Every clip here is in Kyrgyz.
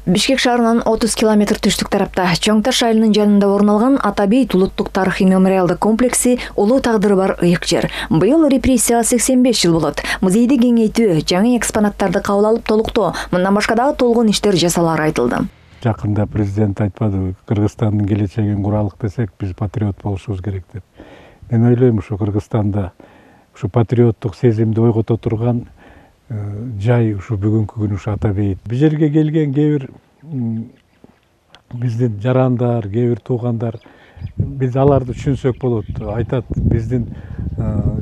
Бишкек шаарынан 30 километр түштүк тарапта Чоң Таш айылынын жанында орун алган Атабейт улуттук тарыхый мемориалдык комплекси улуу тагдыры бар ыйык жер. Быйыл репрессияга 85 жыл болот. Музейди кеңейтүү, жаңы экспонаттарды кабыл алып толуктоо, мындан башка дагы толгон иштер жасалары айтылды. Жакында президент айтпадыбы, Кыргызстандын келечегин куралык десек, биз патриот болушубуз керек деп. Мен ойлойм, ушу Кыргызстанда ушу патриоттук сезимди ойгото турган жай ушу бүгүнкү күн ушу Атабейт. Бул жерге келген кээ бир биздин жарандар, кээ бир туугандар, биз аларды түшүнсөк болот. Айтат, биздин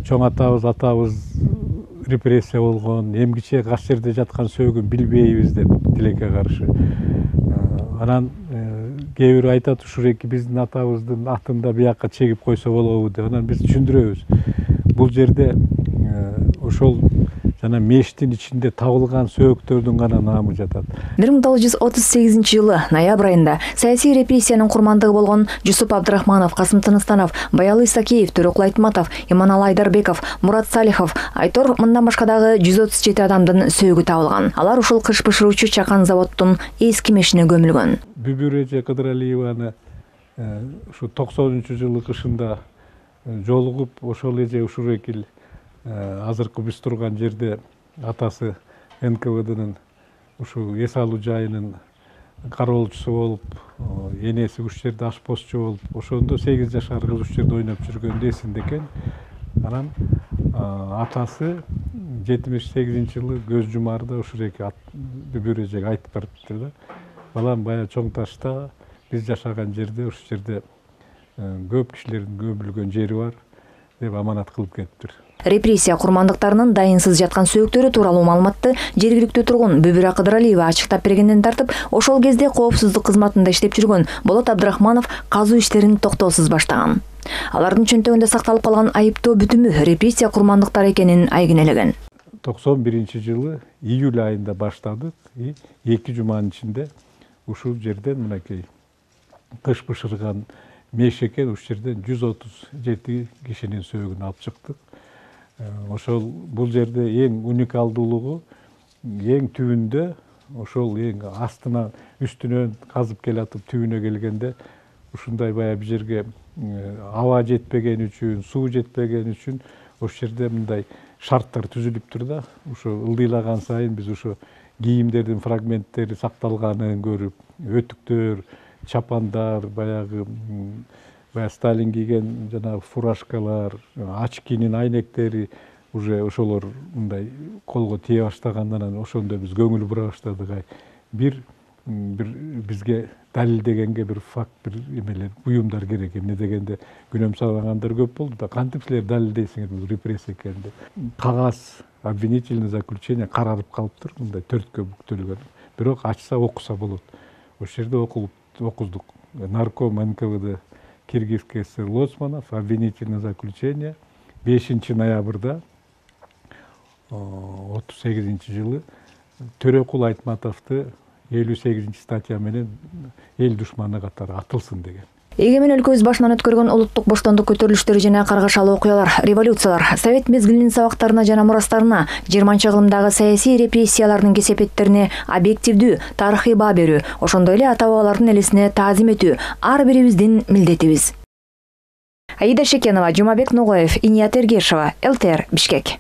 чоң атабыз репрессия болгон, эмгиче каш жерде жаткан сөөгүн билбейбиз деп тилекке каршы. Анан кээ бирөө айтат, ушуреки биздин атабыздын атын да биякка чегип койсо болобу деп. Анан биз түшүндүрөбүз. Бул жерде ошол жана мештин ичинде табылган сөөктөрдүн гана наамы жатат. 1938 жылы ноябрь айында саясий репрессиянын курмандыгы болгон Жусуп Абдрахманов, Касым Тыныстанов, Баялы Исакеев, Төрөкул Айтматов, Иманалы Айдарбеков, Мурат Салихов, Айтор мындан башка дагы 137 адамдын сөөгү табылган. Алар ушул кыш бышыруучу чакан заводдун эски мешине көмүлгөн. Бүбүр эже Кыдыралиеваны ушу 90-жылы кышында жолугуп, ошол эже ушурекил азыркы биз турган жерде атасы НКВДнын ушу эс алуу жайынын кароолчусу болуп, энеси ушул жерде ашпозчу болуп, ошондо 8 жашар кыз ушул жерде ойноп жүргөндө эсинде экен. Анан атасы 78-жылы көз жумаарда ушуреки Бүбүр эжеге айтып барыптыр да. Балам, бая Чоң Ташта биз жашаган жерде ушул жерде көп кишилердин көмүлгөн жери бар деп аманат кылып кетиптир. Репрессия курмандыктарынын дайынсыз жаткан сөөктөрү тууралуу маалыматты жергиликтүү тургун Бүбүр Кыдыралиева ачыктап бергенден тартып, ошол кезде коопсуздук кызматында иштеп жүргөн Болот Абдрахманов казуу иштерин токтоосуз баштаган. Алардын чөнтөгүндө сакталып калган айыптоо бүтүмү репрессия курмандыктары экенин айгинелеген. 91-жылы июль айында баштадык, 2 жуманын ичинде ушул жерден мынакей кыш бышырган меш экен, ушул жерден 137 кишинин сөөгүн алып чыктык. Ошол бул жерде эң уникалдуулугу эң түбүндө, ошол эң астына үстүнөн казып келатып түбүнө келгенде ушундай бая бул жерге аба жетпеген үчүн, суу жетпеген үчүн ошол жерде мындай шарттар түзүлүптүр да. Ошо ылдыйлаган сайын биз ошо кийимдердин фрагменттери сакталганын көрүп, өтүктөр, чапандар, баягы Сталин кийген жана фуражкалар, очкинин айнектери уже ошолор мындай колго тие баштагандан ошондо биз көңүл бура баштадык. Бир бизге далилдегенге бир факт, бир эмелер, буюмдар керек. Эмне дегенде күнөөм салгандар көп болду да. Кантип силер далилдейсиңер бул репрессия экенин деп. Кагаз, обвинительный заключение каралып калыптыр, мындай 4кө бүктөлгөн. Бирок ачса окуса болот. Ошол жерде окуздук. Нарком НКВД Киргизский ССР Лоцманов, обвинительное заключение 5 ноябрда 38-жылы Төрөкул Айтматовду 58 статья менен эл душманы катары атылсын деген. Эгемен өлкөбүз башынан өткөргөн улуттук боштондук көтөрүлүштөрү жана каргашалуу окуялар, революциялар, совет мезгилинин сабактарына жана мурастарына, 20-кылымдагы саясий репрессиялардын кесепеттерине объективдүү тарыхый баа берүү, ошондой эле ата-бабалардын элесине таазим этүү ар бирибиздин милдетибиз. Аида Шекенова, Жумабек Ногоев, Иният Эргешова, ЛТР, Бишкек.